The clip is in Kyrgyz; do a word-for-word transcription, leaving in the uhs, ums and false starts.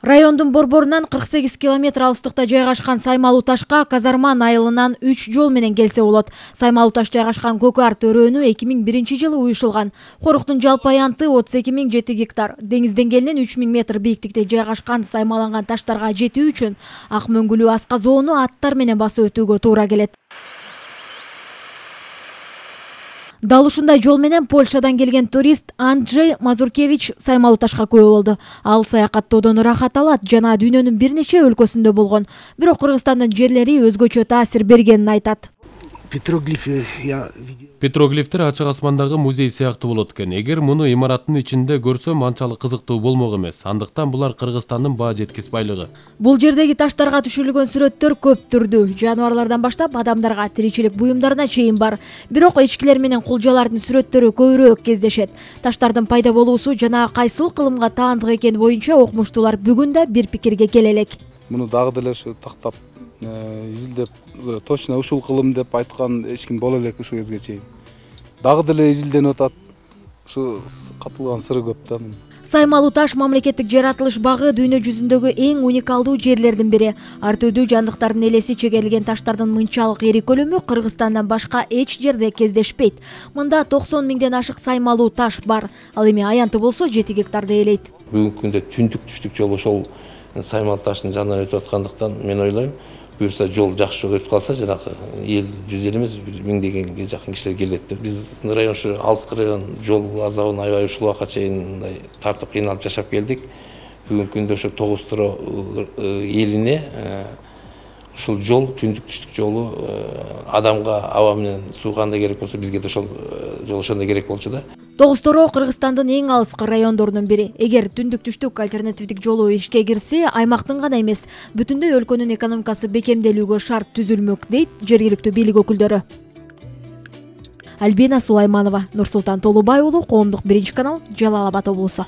Райондун борборунан кырк сегиз километр алыстыкта жайгашкан Саймалуу Ташка Казарман айылынан үч жол менен келсе болот. Саймалуу Таш жайгашкан Көкөр төрөөнү эки миң биринчи жылы уюшулган. Коруктун жалпы аянты отуз эки миң жети гектар. Деңиз деңгээлинен үч миң метр бийиктикте жайгашкан саймаланган таштарга жетүү үчүн ак мөңгүлүү асказоону аттар менен басып өтүүгө туура келет. Дал ушундай жол менен Польшадан келген турист Анджей Мазуркевич Саймалуу Ташка күбө болду. Ал саякаттоодон ырахат алат жана дүйнөнүн бир нече өлкөсүндө болгон. Бирок Кыргызстандын жерлери өзгөчө таасир бергенин айтат. Петроглифы я Петроглифтер ачык асмандагы музей сыяктуу болот экен. Эгер муну имараттын ичинде көрсөм анчалык кызыктуу болмок эмес. Андыктан булар Кыргызстандын баа жеткис байлыгы. Бул жердеги таштарга түшүрүлгөн сүрөттөр көп түрдүү. Жаныбарлардан баштап адамдарга, тиричилик буюмдарына чейин бар. Бирок эчкилер менен кулжалардын сүрөттөрү көбүрөөк кездешет. Таштардын пайда болуусу жана кайсыл кылымга таандык экени боюнча окумуштуулар бүгүн да бир пикирге келе элек. Муну дагы деле ушу тактап изилдеп точно ушул кылым деп айткан эч ким боло элек ушул кезге чейин. Дагы деле изилденип атат. Ушу катылган сыры көп да. Саймалуу Таш мамлекеттик жаратылыш багы дүйнө жүзүндөгү эң уникалдуу жерлердин бири. Ар түрдүү жандыктардын элеси чегерилген таштардын мынчалык ири көлөмү Кыргызстандан башка эч жерде кездешпейт. Мында токсон миңден ашык Саймалуу Таш бар. Ал эми аянты болсо жети гектарды ээлейт. Бүгүнкү күндө түндүк түштүк жол ошол Саймалуу Таштын жанынан өтүп аткандыктан мен ойлойм, буюрса жол жакшы жол өтүп калса, жанагы эл жүз эл эмес, миңдегенге жакын кишилер келет деп. Биздин район ушу алыскы район, жол азабын аябай ушул убакка чейин мындай тартып кыйналып жашап келдик. Бүгүнкү күндө ошо тогуз туро элине ушул жол, түндүк түштүк жолу адамга аба менен суу кандай керек болсо, бизге да ошол жол ошондой керек болчу да. Тогуз торо Кыргызстандын эң алыскы райондорунун бири. Эгер түндүк түштүк альтернативдик жолу ишке кирсе, аймактын гана эмес, бүтүндөй өлкөнүн экономикасы бекемделүүгө шарт түзүлмөк, дейт жергиликтүү бийлик өкүлдөрү. Альбина Сулайманова, Нурсултан Толубай уулу, Коомдук биринчи канал, Жалал Абад облусу.